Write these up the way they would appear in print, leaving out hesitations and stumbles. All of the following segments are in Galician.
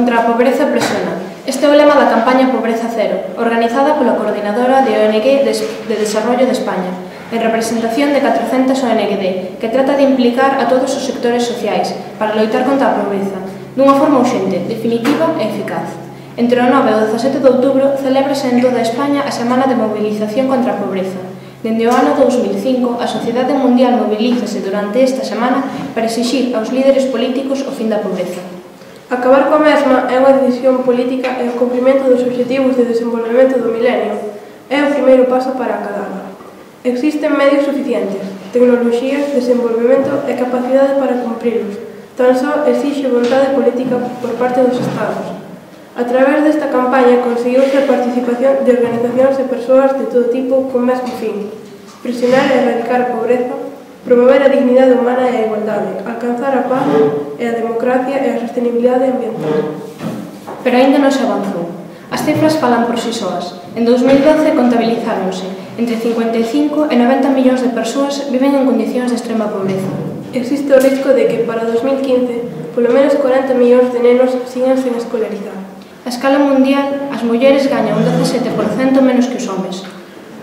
contra a pobreza presiona. Este é o lema da campaña Pobreza Cero, organizada pola Coordinadora de ONG de Desarrollo de España, en representación de 400 ONGD, que trata de implicar a todos os sectores sociais para loitar contra a pobreza, dunha forma urxente, definitiva e eficaz. Entre o 9 e o 17 de outubro celébrase en toda España a Semana de Mobilización contra a Pobreza. Dende o ano 2005, a sociedade mundial mobilízase durante esta semana para exixir aos líderes políticos o fin da pobreza. Acabar coa mesma é unha decisión política e o cumprimento dos obxectivos de desenvolvemento do milenio é o primeiro paso para acadala. Existen medios suficientes, tecnoloxías, desenvolvemento e capacidade para cumprilos. Tan só exixe vontade política por parte dos Estados. A través desta campaña conseguiuse a participación de organizacións e persoas de todo tipo con mesmo fin: presionar e erradicar a pobreza, promover a dignidade humana e a igualdade, alcanzar a paz e a democracia e a sostenibilidade ambiental. Pero aínda non se avanzou. As cifras falan por si soas. En 2012 contabilizáronse entre 55 e 90 millóns de persoas viven en condicións de extrema pobreza. Existe o risco de que para 2015 polo menos 40 millóns de nenos sigan sen escolarizar. A escala mundial, as mulleres gañan un 17% menos que os homes.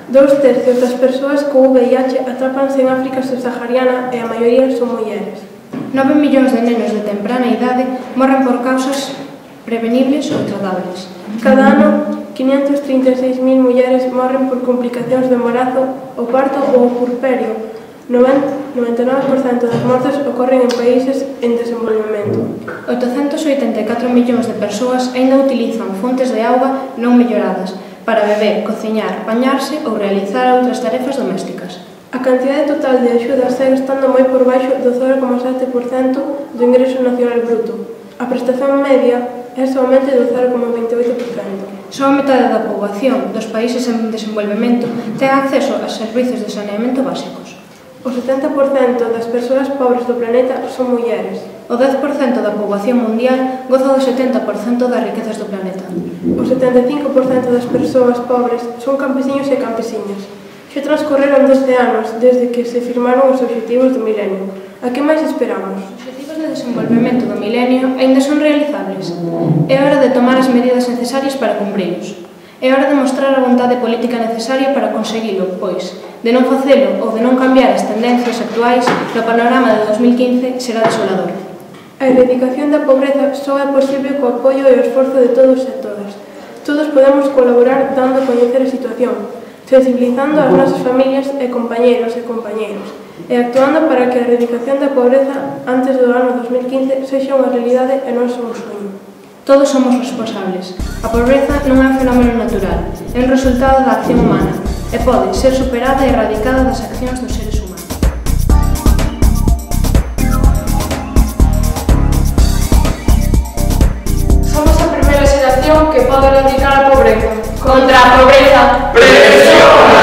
2/3 das persoas co VIH atrápanse en África subsahariana e a maioría son mulleres. 9 millóns de nenos de temprana idade morren por causas prevenibles ou tratables. Cada ano, 536.000 mulleres morren por complicacións do embarazo, o parto ou o puerperio. 99% das mortes ocorren en países en desenvolvemento. 884 millóns de persoas aínda utilizan fontes de auga non melloradas para beber, cociñar, bañarse ou realizar outras tarefas domésticas. A cantidade total de axudas segue estando moi por baixo do 0,7% do ingreso nacional bruto. A prestación media é somente do 0,28%. Só a metade da poboación dos países en desenvolvemento ten acceso a servizos de saneamento básicos. O 70% das persoas pobres do planeta son mulleres. O 10% da poboación mundial goza do 70% das riquezas do planeta. O 75% das persoas pobres son campesiños e campesiñas. Xa transcorreron 12 anos desde que se firmaron os obxectivos do milenio. A que máis esperamos? Os obxectivos de desenvolvemento do milenio aínda son realizables. É hora de tomar as medidas necesarias para cumprilos. É hora de mostrar a vontade política necesaria para conseguilo, pois, de non facelo ou de non cambiar as tendencias actuais, no panorama de 2015 será desolador. A erradicación da pobreza só é posible co apoio e o esforzo de todos e todas. Todos podemos colaborar dando a coñecer a situación, sensibilizando as nosas familias e compañeros e actuando para que a erradicación da pobreza antes do ano 2015 sexa unha realidade e non só un soño. Todos somos responsables. A pobreza non é un fenómeno natural, é un resultado da acción humana e pode ser superada e erradicada das accións dos seres humanos. Somos a primeira xeración que pode erradicar a pobreza. Contra a pobreza, presión!